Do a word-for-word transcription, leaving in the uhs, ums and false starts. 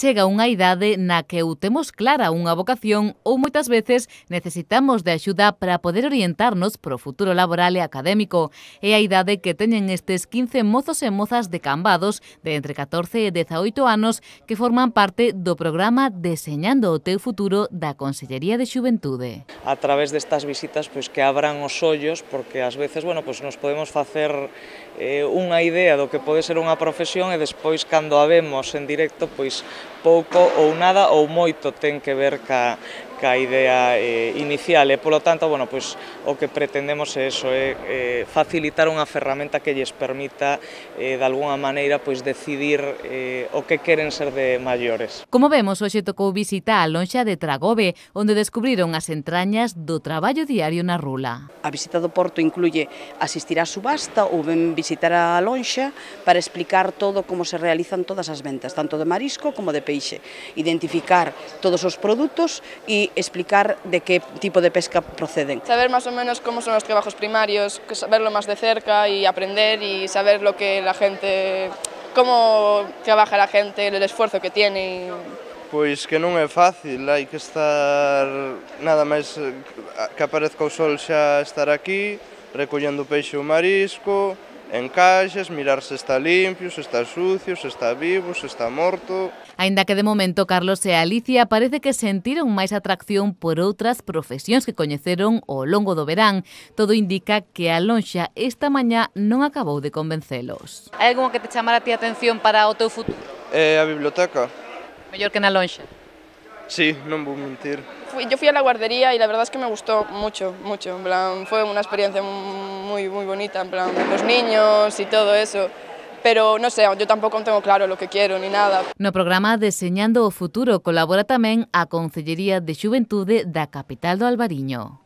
chega unha idade na que ou temos clara unha vocación ou moitas veces necesitamos de axuda para poder orientarnos pro futuro laboral e académico. É a idade que teñen estes quince mozos e mozas de Cambados de entre catorce e dezaoito anos que forman parte do programa Deseñando o teu futuro da Consellería de Xuventude. A través destas visitas pois que abran os ollos, porque ás veces, bueno, pois nos podemos facer eh, unha idea do que pode ser unha profesión e despois cando a vemos en directo, pois pouco ou nada ou moito ten que ver ca, ca idea eh, inicial e, polo tanto, bueno, pois, o que pretendemos é eso, é eh, facilitar unha ferramenta que lles permita eh, de alguna maneira pois, decidir eh, o que queren ser de maiores. Como vemos, hoxe tocou visita á lonxa de Tragobe, onde descubriron as entrañas do traballo diario na rula. A visita do Porto incluye asistir á subasta ou ben visitar a lonxa para explicar todo como se realizan todas as ventas, tanto de marisco como de peixe, identificar todos os produtos e explicar de que tipo de pesca proceden. Saber más o menos cómo son los trabajos primarios, verlo más de cerca y aprender y saber lo que la gente, cómo trabaja la gente, el esfuerzo que tiene. Pois que non é fácil, hai que estar nada máis que aparezca o sol xa estar aquí, recollendo peixe ou marisco, en caixas, mirar se está limpio, se está sucio, se está vivo, se está morto. Aínda que de momento Carlos e Alicia parece que sentiron máis atracción por outras profesións que coñeceron ao longo do verán. Todo indica que a lonxa esta mañá non acabou de convencelos. Hai algunha que te chamara a ti a atención para o teu futuro? É a biblioteca. Mellor que na lonxa. Sí, non vou mentir. Fui, yo fui a la guardería y la verdad es que me gustó mucho, mucho. En plan, fue una experiencia muy, muy bonita, en plan, los niños y todo eso. Pero, no sé, yo tampoco tengo claro lo que quiero ni nada. No programa Deseñando o futuro colabora tamén a Consellería de Xuventude da capital do Albariño.